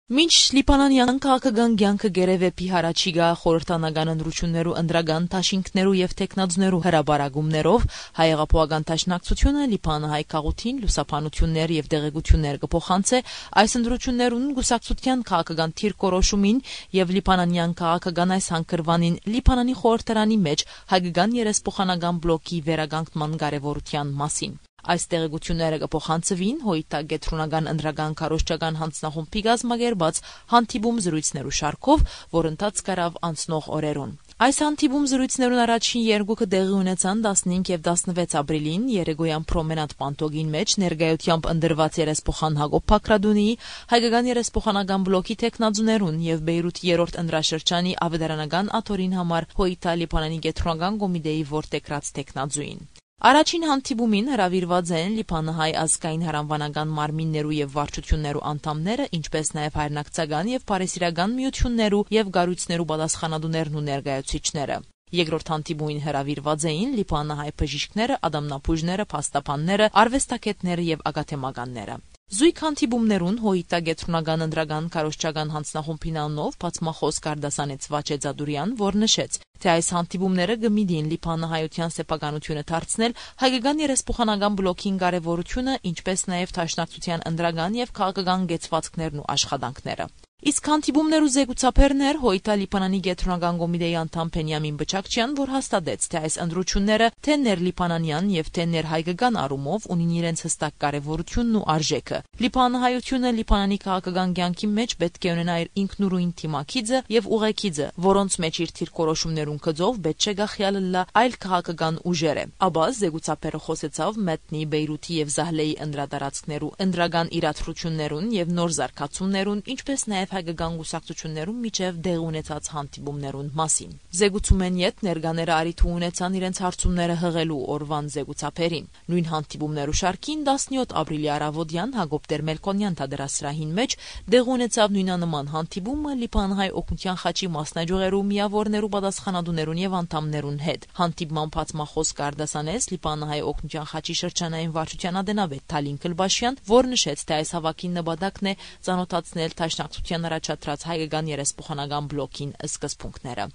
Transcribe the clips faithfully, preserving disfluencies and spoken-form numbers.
Մինչ Լիբանանեան քաղաքական կեանքը կ'երեւէ պի յառաջիկայ խորհրդանական ընտրութիւններու ընտրական դաշինքներու եւ թեկնածուներու հրապարակումներով, Հայ հեղափոխական Դաշնակցութիւնը Լիբանանահայ գաղութին լուսաբանութիւններ եւ տեղեկութիւններ կը փոխանցէ այս ընտրութիւններուն, կուսակցութեան քաղաքական դիրքորոշումին եւ լիբանանեան քաղաքական այս հանգրուանին Լիբանանի խորհրդարանի մէջ հայկական երեսփոխանական բլոկի վերականգնման կարեւորութեան մասին։ Այս տեղեկութիւնները կը փոխանցուին Հոյտա կեդրոնական ընտրական քարոզչական յանձնախումբի կազմակերպած հանդիպում զրոյցներու շարքով, որ ընթացք առաւ անցնող օրերուն։ Այս հանդիպում զրոյցներուն առաջին երկուքը տեղի ունեցան տասնհինգ եւ տասնվեց ապրիլին երեկոյան Պրոմենադ պանթօկին մէջ ներկայութեամբ ընտրուած երեսփոխան Հակոբ Բագրատունիի, հայկական երեսփոխանական բլոկի թեկնածուներուն եւ Բեյրութի երրորդ ընտրաշրջանի աւետարանական աթոռին համար Հոյտա Լիբանանի կեդրոնական կոմիտէի որդեգրած թեկնածուին։ Առաջին հանդիպումին հրաւիրուած են Լիբանահայ ազգային յարանուանական մարմիններու եւ վարչութիւններու անդամները, ինչպէս նաեւ հայրենակցական եւ բարեսիրական միութիւններու եւ կառոյցներու պատասխանատուներն ու ներկայացուցիչները։ Երկրորդ հանդիպումին հրաւիրուած էին Լիբանահայ բժիշկները, ատամնաբոյժները, փաստաբանները, արուեստագէտները եւ ակադեմականները։ Զոյգ հանդիպումներուն Հոյտա կեդրոնական ընտրական քարոզչական յանձնախումբին անունով բացմախօս կ'արտասանեց Վաչե Ծատուրեան, որ նշեց, թէ այս հանդիպումները կը միտին Լիբանահայութեան սեփականութիւնը դարձնել հայկական երեսփոխանական բլոկին կարեւորութիւնը, ինչպէս նաեւ Դաշնակցութեան ընտրական եւ քաղաքական կեցուածքներն ու աշխատանքները։ Իսկ հանդիպումներու զեկուցաբերն էր Հոյտա Լիբանանի կեդրոնական կոմիտէի անդամ Բենիամին Բչակչեան, որ հաստատեց, թէ այս ընտրութիւնները թէ ներլիբանանեան եւ թէ ներհայկական առումով ունին իրենց յստակ կարեւորութիւնն ու արժէքը։ Լիբանահայութիւնը Լիբանանի քաղաքական կեանքի մէջ պէտք է ունենայ իր ինքնուրույն դիմագիծը եւ ուղեգիծը, որոնց մէջ իր դիրքորոշումներուն գծով պէտք չէ կախեալ ըլլայ այլ քաղաքական ուժերէ։ Ապա զեկուցաբերը խօսեցաւ Մեթնի, Բեյրութի եւ Զահլեի ընտրատարածքներու ընտրական իրադրութիւններուն եւ նոր զարգացումներուն, ինչպէս նաեւ հայկական կուսակցութիւններուն միջեւ տեղի ունեցած հանդիպումներուն մասին։ Զեկուցումէն յետ ներկաները առիթ ունեցան իրենց հարցումները յղելու օրուան զեկուցաբերին։ Նոյն հանդիպումներու շարքին տասնեօթ ապրիլի առաւօտեան Հակոբ Տերմելքոնեան թատերասրահին մէջ տեղի ունեցաւ նոյնանման հանդիպումը Լիբանահայ օգնութեան խաչի մասնաճիւղերու միաւորներու պատասխանատուներուն եւ անդամներուն հետ։ Հանդիպման բացմախօս կ'արտասանեց Լիբանահայ օգնութեան խաչի շրջանային վարչութեան ատենապետ Թալին Քլբաշեան, որ նշեց, թէ այս հաւաքին նպատակն է ծանօթացնել Դաշնակցութեան առաջադրած հայկական երեսփոխանական բլոկին սկզբունքները։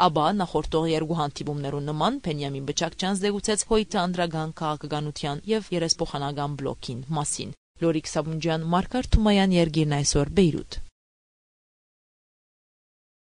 Ապա նախորդող երկու հանդիպումներուն նման Բենիամին Բչակչեան զեկուցեց Հոյտա ընտրական քաղաքականութեան եւ երեսփոխանական բլոկին մասին։ Լորիկ Սաբունջեան, Մարգար Թումաեան, Երկիրն այսօր, Բեյրութ։